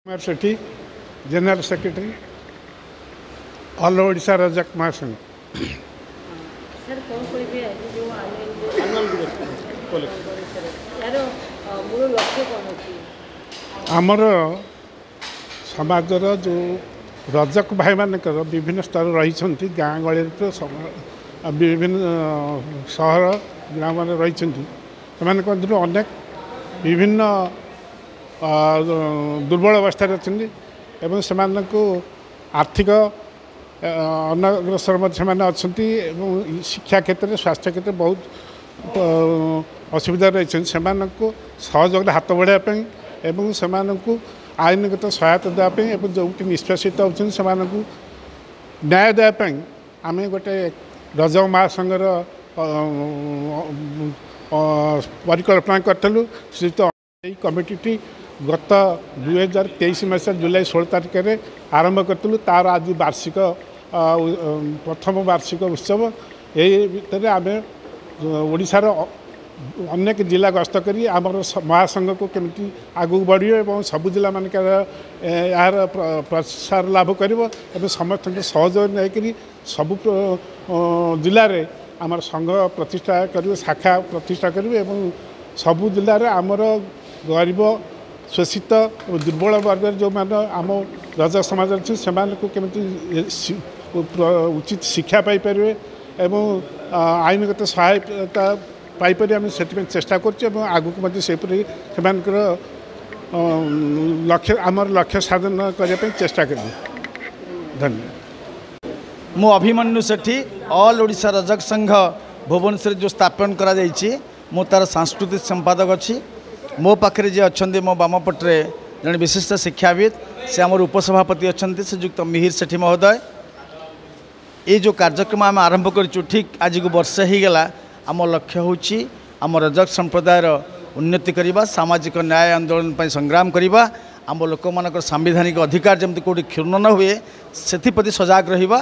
Kumar Sethi, general secretary, all Odisha Rajak Mahasangh. Sir, କ'ଣ କହିବେ, ଆଜି ଯେଉଁ ଆନୁଆଲ ଏହାର ମୂଳ ଲକ୍ଷ୍ୟ କ'ଣ ଅଛି? ଆମର ସମାଜର ଯେଉଁ ରଜକ ଭାଇମାନଙ୍କର ବିଭିନ୍ନ ସ୍ତର ରହିଛନ୍ତି, ଗାଁ ଗହଳିରେ ତ ବିଭିନ୍ନ ସହର ଗ୍ରାମରେ ରହିଛନ୍ତି, ସେମାନଙ୍କ ମଧ୍ୟରୁ ଅନେକ ବିଭିନ୍ନ ଦୁର୍ବଳ ଅବସ୍ଥାରେ ଅଛନ୍ତି ଏବଂ ସେମାନଙ୍କୁ ଆର୍ଥିକ ଅନଗ୍ରସର ମଧ୍ୟ ସେମାନେ ଅଛନ୍ତି ଏବଂ ଶିକ୍ଷା କ୍ଷେତ୍ରରେ, ସ୍ୱାସ୍ଥ୍ୟ କ୍ଷେତ୍ରରେ ବହୁତ ଅସୁବିଧା ରହିଛନ୍ତି। ସେମାନଙ୍କୁ ସହଯୋଗରେ ହାତ ବଢ଼ାଇବା ପାଇଁ ଏବଂ ସେମାନଙ୍କୁ ଆଇନଗତ ସହାୟତା ଦେବା ପାଇଁ ଏବଂ ଯେଉଁଠି ନିଷ୍ପେଷିତ ହେଉଛନ୍ତି ସେମାନଙ୍କୁ ନ୍ୟାୟ ଦେବା ପାଇଁ ଆମେ ଗୋଟେ ରଜକ ମହାସଂଘର ପରିକଳ୍ପନା କରିଥିଲୁ। ଶ୍ରୀଯୁକ୍ତ ଏହି କମିଟିଟି ଗତ 2023 ମସିହା ଜୁଲାଇ 16 ତାରିଖରେ ଆରମ୍ଭ କରିଥିଲୁ। ତା'ର ଆଜି ବାର୍ଷିକ, ପ୍ରଥମ ବାର୍ଷିକ ଉତ୍ସବ। ଏହି ଭିତରେ ଆମେ ଓଡ଼ିଶାର ଅନେକ ଜିଲ୍ଲା ଗସ୍ତ କରି ଆମର ମହାସଂଘକୁ କେମିତି ଆଗକୁ ବଢ଼ିବ ଏବଂ ସବୁ ଜିଲ୍ଲାମାନଙ୍କର ଏହାର ପ୍ରସାର ଲାଭ କରିବ ଏବଂ ସମସ୍ତଙ୍କ ସହଯୋଗ ନେଇକରି ସବୁ ଜିଲ୍ଲାରେ ଆମର ସଂଘ ପ୍ରତିଷ୍ଠା କରିବୁ, ଶାଖା ପ୍ରତିଷ୍ଠା କରିବୁ ଏବଂ ସବୁ ଜିଲ୍ଲାରେ ଆମର ଗରିବ, ଶୋଷିତ ଓ ଦୁର୍ବଳ ବର୍ଗରେ ଯେଉଁମାନେ ଆମ ରଜକ ସମାଜ ଅଛି, ସେମାନଙ୍କୁ କେମିତି ଉଚିତ ଶିକ୍ଷା ପାଇପାରିବେ ଏବଂ ଆଇନଗତ ସହାୟତା ପାଇପାରିବେ, ଆମେ ସେଥିପାଇଁ ଚେଷ୍ଟା କରୁଛୁ ଏବଂ ଆଗକୁ ମଧ୍ୟ ସେହିପରି ସେମାନଙ୍କର ଲକ୍ଷ୍ୟ, ଆମର ଲକ୍ଷ୍ୟ ସାଧନ କରିବା ପାଇଁ ଚେଷ୍ଟା କରିବୁ। ଧନ୍ୟବାଦ। ମୁଁ ଅଭିମନ୍ୟୁ ସେଠୀ। ଅଲ୍ ଓଡ଼ିଶା ରଜକ ସଂଘ ଭୁବନେଶ୍ୱରରେ ଯେଉଁ ସ୍ଥାପନ କରାଯାଇଛି, ମୁଁ ତା'ର ସାଂସ୍କୃତିକ ସମ୍ପାଦକ ଅଛି। ମୋ ପାଖରେ ଯିଏ ଅଛନ୍ତି, ମୋ ବାମ ପଟରେ ଜଣେ ବିଶିଷ୍ଟ ଶିକ୍ଷାବିତ୍, ସେ ଆମର ଉପସଭାପତି ଅଛନ୍ତି, ଶ୍ରୀଯୁକ୍ତ ମିହିର ସେଠୀ ମହୋଦୟ। ଏଇ ଯେଉଁ କାର୍ଯ୍ୟକ୍ରମ ଆମେ ଆରମ୍ଭ କରିଛୁ, ଠିକ୍ ଆଜିକୁ ବର୍ଷେ ହେଇଗଲା। ଆମ ଲକ୍ଷ୍ୟ ହେଉଛି ଆମ ରଜକ ସମ୍ପ୍ରଦାୟର ଉନ୍ନତି କରିବା, ସାମାଜିକ ନ୍ୟାୟ ଆନ୍ଦୋଳନ ପାଇଁ ସଂଗ୍ରାମ କରିବା, ଆମ ଲୋକମାନଙ୍କର ସାମ୍ବିଧାନିକ ଅଧିକାର ଯେମିତି କେଉଁଠି କ୍ଷୁଣ୍ଣ ନ ହୁଏ ସେଥିପ୍ରତି ସଜାଗ ରହିବା।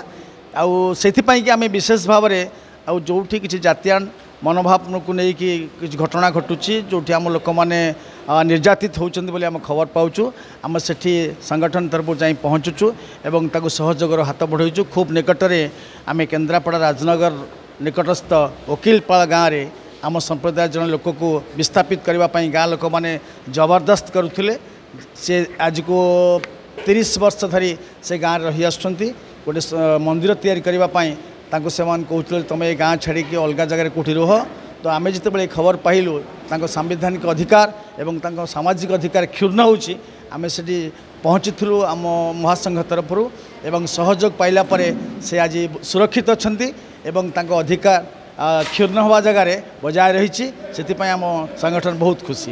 ଆଉ ସେଥିପାଇଁକି ଆମେ ବିଶେଷ ଭାବରେ ଆଉ ଯେଉଁଠି କିଛି ଜାତିଆଣ ମନୋଭାବକୁ ନେଇକି କିଛି ଘଟଣା ଘଟୁଛି, ଯେଉଁଠି ଆମ ଲୋକମାନେ ନିର୍ଯାତିତ ହେଉଛନ୍ତି ବୋଲି ଆମେ ଖବର ପାଉଛୁ, ଆମେ ସେଠି ସଂଗଠନ ତରଫରୁ ଯାଇ ପହଞ୍ଚୁଛୁ ଏବଂ ତାକୁ ସହଯୋଗର ହାତ ବଢ଼ାଉଛୁ। ଖୁବ୍ ନିକଟରେ ଆମେ କେନ୍ଦ୍ରାପଡ଼ା ରାଜନଗର ନିକଟସ୍ଥ ଓକିଲପାଳ ଗାଁରେ ଆମ ସମ୍ପ୍ରଦାୟ ଜଣେ ଲୋକକୁ ବିସ୍ଥାପିତ କରିବା ପାଇଁ ଗାଁ ଲୋକମାନେ ଜବରଦସ୍ତ କରୁଥିଲେ। ସେ ଆଜିକୁ 30 ବର୍ଷ ଧରି ସେ ଗାଁରେ ରହି ଆସୁଛନ୍ତି। ଗୋଟେ ମନ୍ଦିର ତିଆରି କରିବା ପାଇଁ ତାଙ୍କୁ ସେମାନେ କହୁଥିଲେ, ତୁମେ ଏ ଗାଁ ଛାଡ଼ିକି ଅଲଗା ଜାଗାରେ କେଉଁଠି ରୁହ। ତ ଆମେ ଯେତେବେଳେ ଏ ଖବର ପାଇଲୁ, ତାଙ୍କ ସାମ୍ବିଧାନିକ ଅଧିକାର ଏବଂ ତାଙ୍କ ସାମାଜିକ ଅଧିକାର କ୍ଷୁଣ୍ଣ ହେଉଛି, ଆମେ ସେଠି ପହଞ୍ଚିଥିଲୁ ଆମ ମହାସଂଘ ତରଫରୁ ଏବଂ ସହଯୋଗ ପାଇଲା ପରେ ସେ ଆଜି ସୁରକ୍ଷିତ ଅଛନ୍ତି ଏବଂ ତାଙ୍କ ଅଧିକାର କ୍ଷୁଣ୍ଣ ହେବା ଜାଗାରେ ବଜାୟ ରହିଛି। ସେଥିପାଇଁ ଆମ ସଂଗଠନ ବହୁତ ଖୁସି।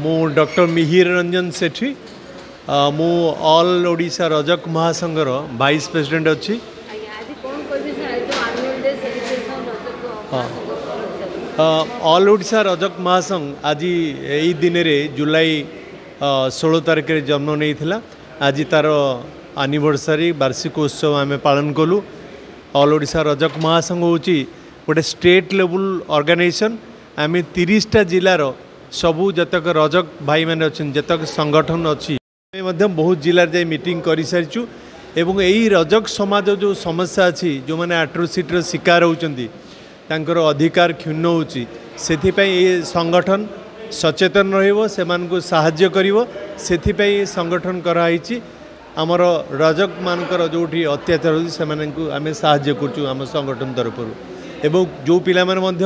ମୁଁ ଡକ୍ଟର ମିହିର ରଞ୍ଜନ ସେଠୀ। ମୁଁ ଅଲ୍ ଓଡ଼ିଶା ରଜକ ମହାସଂଘର ଭାଇସ୍ ପ୍ରେସିଡେଣ୍ଟ ଅଛି। ହଁ, ଅଲ୍ ଓଡ଼ିଶା ରଜକ ମହାସଂଘ ଆଜି ଏଇ ଦିନରେ ଜୁଲାଇ 16 ତାରିଖରେ ଜନ୍ମ ନେଇଥିଲା। ଆଜି ତା'ର ଆନିଭର୍ସରୀ, ବାର୍ଷିକ ଉତ୍ସବ ଆମେ ପାଳନ କଲୁ। ଅଲ୍ ଓଡ଼ିଶା ରଜକ ମହାସଂଘ ହେଉଛି ଗୋଟେ ଷ୍ଟେଟ୍ ଲେବୁଲ୍ ଅର୍ଗାନାଇଜେସନ୍। ଆମେ 30ଟା ଜିଲ୍ଲାର ସବୁ ଯେତକ ରଜକ ଭାଇମାନେ ଅଛନ୍ତି, ଯେତକ ସଂଗଠନ ଅଛି, ଆମେ ମଧ୍ୟ ବହୁତ ଜିଲ୍ଲାରେ ଯାଇ ମିଟିଂ କରିସାରିଛୁ ଏବଂ ଏଇ ରଜକ ସମାଜ ଯେଉଁ ସମସ୍ୟା ଅଛି, ଯେଉଁମାନେ ଆଟ୍ରୋସିଟିର ଶିକାର ହେଉଛନ୍ତି, ତାଙ୍କର ଅଧିକାର କ୍ଷୁଣ୍ଣ ହେଉଛି, ସେଥିପାଇଁ ଏ ସଂଗଠନ ସଚେତନ ରହିବ, ସେମାନଙ୍କୁ ସାହାଯ୍ୟ କରିବ। ସେଥିପାଇଁ ଏ ସଂଗଠନ କରାହେଇଛି। ଆମର ରଜକମାନଙ୍କର ଯେଉଁଠି ଅତ୍ୟାଚାର ହେଉଛି, ସେମାନଙ୍କୁ ଆମେ ସାହାଯ୍ୟ କରୁଛୁ ଆମ ସଂଗଠନ ତରଫରୁ ଏବଂ ଯେଉଁ ପିଲାମାନେ ମଧ୍ୟ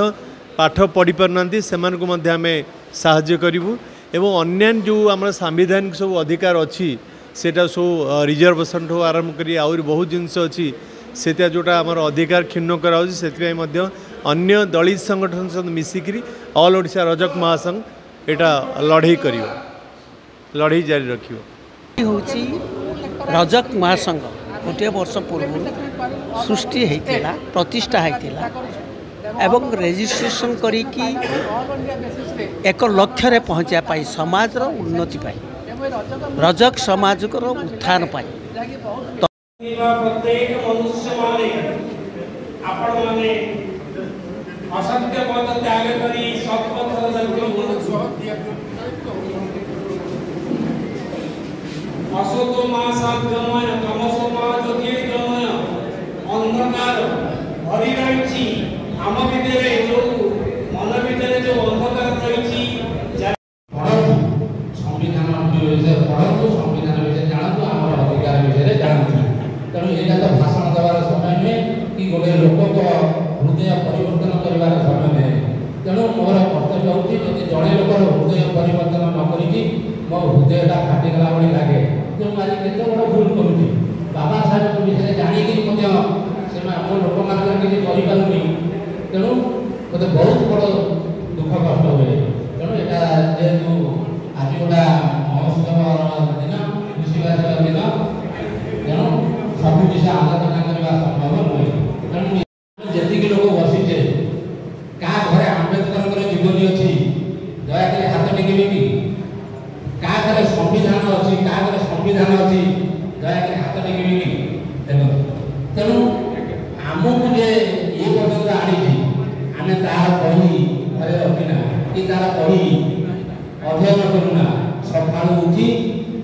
ପାଠ ପଢ଼ିପାରୁନାହାନ୍ତି, ସେମାନଙ୍କୁ ମଧ୍ୟ ଆମେ ସାହାଯ୍ୟ କରିବୁ ଏବଂ ଅନ୍ୟାନ୍ୟ ଯେଉଁ ଆମର ସାମ୍ବିଧାନିକ ସବୁ ଅଧିକାର ଅଛି, ସେଇଟା ସବୁ ରିଜର୍ଭେସନ୍ ଠୁ ଆରମ୍ଭ କରି ଆହୁରି ବହୁତ ଜିନିଷ ଅଛି, ସେଇଟା ଯେଉଁଟା ଆମର ଅଧିକାର କ୍ଷୁଣ୍ଣ କରାହେଉଛି, ସେଥିପାଇଁ ମଧ୍ୟ ଅନ୍ୟ ଦଳିତ ସଂଗଠନ ସହିତ ମିଶିକିରି ଅଲ୍ ଓଡ଼ିଶା ରଜକ ମହାସଂଘ ଏଇଟା ଲଢ଼େଇ କରିବ, ଲଢ଼େଇ ଜାରି ରଖିବ। ହେଉଛି ରଜକ ମହାସଂଘ ଗୋଟିଏ ବର୍ଷ ପୂର୍ବରୁ ସୃଷ୍ଟି ହେଇଥିଲା, ପ୍ରତିଷ୍ଠା ହେଇଥିଲା ଏବଂ ରେଜିଷ୍ଟ୍ରେସନ୍ କରିକି ଏକ ଲକ୍ଷ୍ୟରେ ପହଞ୍ଚିବା ପାଇଁ, ସମାଜର ଉନ୍ନତି ପାଇଁ, ରଜକ ସମାଜର ଉତ୍ଥାନ ପାଇଁ। ପ୍ରତ୍ୟେକ ମନୁଷ୍ୟମାନେ, ଆପଣମାନେ ଅସତ୍ୟ ପଥ ତ୍ୟାଗ କରି ସତ୍ପଥର ଯାଉଛନ୍ତି। ଅସତୋ ମା ସାଧ୍ୟମୟ ତମସୋ ମା ଜ୍ୟୋତିର୍ଗମୟ ଅନ୍ଧକାର ଭରି ରହିଛି ଆମ ଭିତରେ, ଯେଉଁ ମନ ଭିତରେ ଯେଉଁ ଅନ୍ଧକାର ରହିଛି। ପଢ଼ନ୍ତୁ, ସମ୍ବିଧାନ ବିଷୟରେ ପଢ଼ନ୍ତୁ, ସମ୍ବିଧାନ ବିଷୟରେ ଜାଣନ୍ତୁ, ଆମର ଅଧିକାର ବିଷୟରେ ଜାଣନ୍ତୁ। ତେଣୁ ଏଇଟା ତ ଭାଷଣ ଦେବାର ସମୟ ନୁହେଁ କି ଗୋଟେ ଲୋକଙ୍କ ହୃଦୟ ପରିବର୍ତ୍ତନ କରିବାର ସମୟ ନୁହେଁ। ତେଣୁ ମୋର କର୍ତ୍ତବ୍ୟ ହେଉଛି, ଯଦି ଜଣେ ଲୋକର ହୃଦୟ ପରିବର୍ତ୍ତନ ନ କରିକି ମୋ ହୃଦୟଟା ଫାଟିଗଲା ଭଳି ଲାଗେ ଯେ ମୁଁ ଆଜି କେତେ ବଡ଼ ଭୁଲ କରୁଛି। ବାବା ସାହେବଙ୍କ ବିଷୟରେ ଜାଣିକିରି ମଧ୍ୟ ସେମାନେ ମୋ ଲୋକମାନଙ୍କର କିଛି କରିପାରୁନି। ତେଣୁ ମୋତେ ବହୁତ ବଡ଼ ଦୁଃଖ କଷ୍ଟ ହୁଏ। ତେଣୁ ଏଇଟା ଯେହେତୁ ଆଜି ଗୋଟା ମହୋତ୍ସବର ଦିନ, ଖୁସିବାସିର ଦିନ, ତେଣୁ ସବୁ ବିଷୟ ଆଲୋଚନା କରିବା ସମ୍ଭବ ନୁହେଁ। ତେଣୁ ଯେତିକି ଲୋକ ବସିଛେ, କାହା ଘରେ ଆମ୍ବେଦକରଙ୍କର ଜୀବନୀ ଅଛି ଦୟାକରି ହାତ ଟେକିବେ କି? କାହା ଘରେ ସମ୍ବିଧାନ ଅଛି, କାହା ଘରେ ସମ୍ବିଧାନ ଅଛି ଦୟାକରି ହାତ ଟେକିବେ କି? ଦେଖନ୍ତୁ, ତେଣୁ ଆମକୁ ଯେ ଏ ପର୍ଯ୍ୟନ୍ତ ଆଣିଛି, ଆମେ ତାର ବହି ଘରେ ରଖିନା କି ତାର ବହି ଅଧ୍ୟୟନ କରୁନା। ସକାଳୁ ଉଠି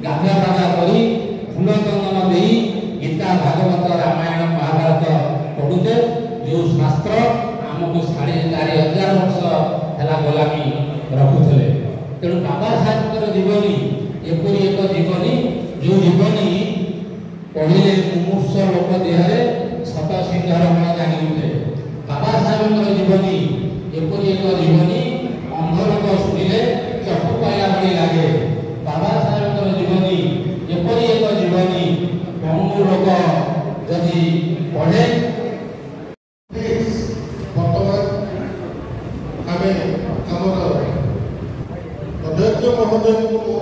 ଗାଧୁଆ ପାଧୁଆ କରି ଫୁଲ ଚନ୍ଦନ ଦେଇ ଗୀତା, ଭାଗବତ, ରାମାୟଣ, ମହାଭାରତ ପଢ଼ୁଛେ, ଯେଉଁ ଶାସ୍ତ୍ର ଆମକୁ 4500 ବର୍ଷ ହେଲା ଗୋଲାମୀ ରଖୁଥିଲେ। ତେଣୁ ବାବା ସାହେବଙ୍କର ଜୀବନୀ ଏପରି ଏକ ଜୀବନୀ, ଯେଉଁ ଜୀବନୀ ପଢ଼ିଲେ ମୁମୂର୍ଷ ଲୋକ ଦେହରେ ଶତ ସିଂହର ବଳ ଜାଗି ଉଠେ। ବାବା ସାହେବଙ୍କର ଜୀବନୀ ଏପରି ଏକ ଜୀବନୀ, ଅନ୍ଧ ଲୋକ ଶୁଣିଲେ ଚକ୍ଷୁ ପାଇଲା ଭଳି ଲାଗେ। ବାବା ସାହେବଙ୍କର ଜୀବନୀ ଏପରି ଏକ ଜୀବନୀ, ପଙ୍ଗୁ ଲୋକ ଯଦି ପଢ଼େ। ବର୍ତ୍ତମାନ ଆମେ ଆମର ଅଧ୍ୟକ୍ଷ ମହୋଦୟଙ୍କୁ ମୁଁ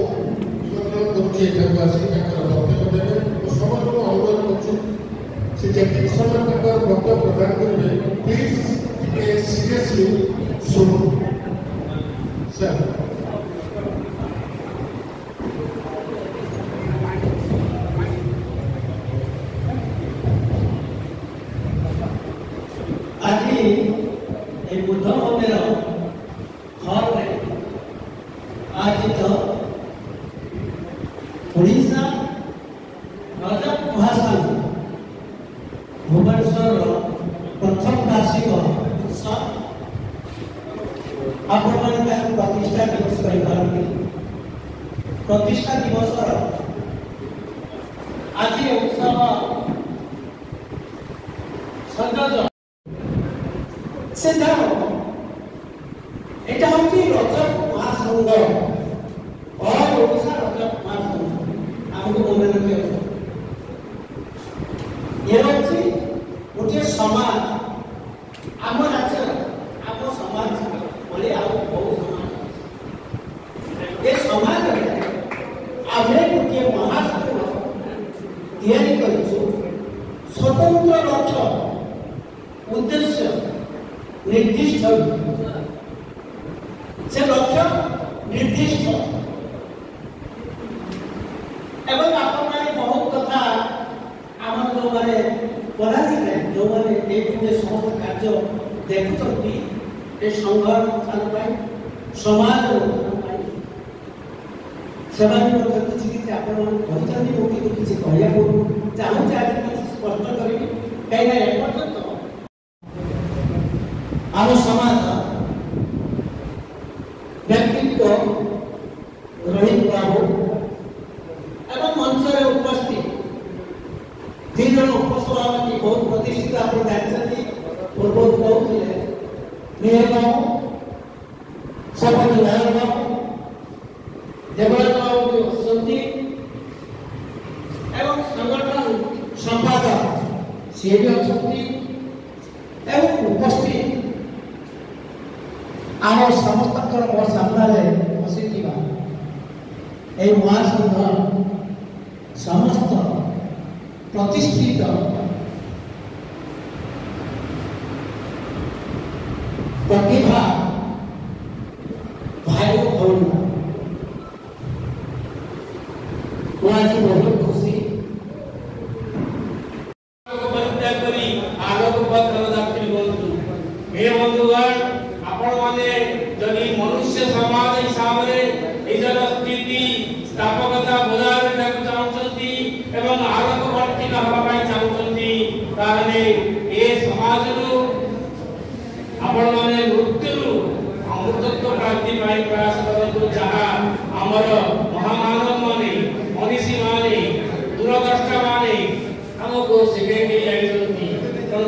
ନିମନ୍ତ୍ରଣ କରୁଛି, ଏଠାକୁ ଆସି ତାଙ୍କର ବକ୍ତବ୍ୟ ଦେବେ। ମୁଁ ସମସ୍ତଙ୍କୁ ଅନୁରୋଧ କରୁଛି, ସେ ଯେତିକି ସମୟ ତାଙ୍କର ବକ୍ତବ୍ୟ ପ୍ରଦାନ କରିବେ, ପ୍ଲିଜ୍ ଟିକେ ସିରିୟସଲି ଶୁଣୁ ସାର୍। ଆଜି ଏହି ବୁଦ୍ଧ ମନ୍ଦିର ହଲରେ ଆୟୋଜିତ ଓଡ଼ିଶା ରଜକ ମହାସଂଘ ଭୁବନେଶ୍ୱରର ପ୍ରଥମ ବାର୍ଷିକ ଉତ୍ସବ, ଆପଣମାନେ ତାକୁ ପ୍ରତିଷ୍ଠା ଦିବସ କହିପାରନ୍ତି, ପ୍ରତିଷ୍ଠା ଦିବସର ଆଜି ଉତ୍ସବ ସଂଯୋଜକ ସେ ଯାହା, ଏଇଟା ହେଉଛି ରଜକ ମହାସଂଘ, ଅଲ୍ ଓଡ଼ିଶା ରଜକ ମହାସଂଘ। ଆମକୁ ମନେ ରଖିବାକୁ, ଇଏ ହେଉଛି ଗୋଟିଏ ସମାଜ। ଆମ ରାଜ୍ୟରେ ଆମ ସମାଜ ଭଳି ଆଉ ବହୁ ସମାଜ ଅଛି। ଏ ସମାଜରେ ଆମେ ଗୋଟିଏ ମହାସଂଘ ତିଆରି କରିଛୁ, ସ୍ୱତନ୍ତ୍ର ଲକ୍ଷ୍ୟ ଉଦ୍ଦେଶ୍ୟ ନିର୍ଦ୍ଦିଷ୍ଟ, ସେ ଲକ୍ଷ୍ୟ ନିର୍ଦ୍ଦିଷ୍ଟ। ଏବଂ ଆପଣମାନେ ବହୁତ କଥା, ଆମର ଯେଉଁମାନେ ପଦାଧିକାରୀ, ଯେଉଁମାନେ ଡେ ଟୁ ଡେ ସମସ୍ତ କାର୍ଯ୍ୟ ଦେଖୁଛନ୍ତି, ଏ ସଂଘର ଉତ୍ଥାନ ପାଇଁ, ସମାଜର ଉତ୍ଥାନ ପାଇଁ, ସେମାନେ ମଧ୍ୟ କିଛି କିଛି ଆପଣମାନଙ୍କୁ କହିଛନ୍ତି। ମୁଁ କିନ୍ତୁ କିଛି କହିବାକୁ ଚାହୁଁଛି, ଆଜି କିଛି ସ୍ପଷ୍ଟ କରିବି, କାହିଁକିନା ଏପର୍ଯ୍ୟନ୍ତ ଆମ ସମାଜ ବ୍ୟକ୍ତିତ୍ୱ ରୋହିତ ବାବୁ ଏବଂ ମଞ୍ଚରେ ଉପସ୍ଥିତ ଦୁଇ ଜଣ ଉପସଭାପତି, ବହୁତ ପ୍ରତିଷ୍ଠିତ, ଆପଣ ଜାଣିଛନ୍ତି, ପୂର୍ବରୁ କହୁଥିଲେ, ନିହାର ବାବୁ, ସଭାପତି ନାରାୟଣ ବାବୁ, ଦେବରାଜ ବାବୁ ବି ବସିଛନ୍ତି ଏବଂ ସଂଗଠନ ସମ୍ପାଦକ ସିଏ ବି ଅଛନ୍ତି, ଏବଂ ଉପସ୍ଥିତ ଆମ ସମସ୍ତଙ୍କର ମୋ ସାମ୍ନାରେ ବସିଥିବା ଏହି ମହାସଂଘ ସମସ୍ତ ପ୍ରତିଷ୍ଠିତ ପ୍ରତିଭା ଭାଇ ଓ ଭଉଣୀ, ମୁଁ ଆଜି ବହୁତ ଖୁସି। ପରିତ୍ୟାଗ କରି ଆଲୋକ ପଥର ଯାତ୍ରୀ ହୁଅନ୍ତୁ। ହେ ବନ୍ଧୁଗଣ, ଆପଣମାନେ ଯଦି ମନୁଷ୍ୟ ସମାଜ ହିସାବରେ ନିଜର ସ୍ଥିତି ସ୍ଥାପକତା ବଜାୟ ରଖିବାକୁ ଚାହୁଁଛନ୍ତି ତାହେଲେ ଏ ସମାଜରୁ ଆପଣମାନେ ମୃତ୍ୟୁରୁ ଅମୃତତ୍ୱ ପ୍ରାପ୍ତି ପାଇଁ ପ୍ରୟାସ କରନ୍ତୁ, ଯାହା ଆମର ମହାମାନବ ମାନେ, ମନୀଷୀ ମାନେ, ଦୂରଦ୍ରଷ୍ଟା ମାନେ ଆମକୁ ଶିଖେଇ ଦେଇ ଯାଇଛନ୍ତି। ତେଣୁ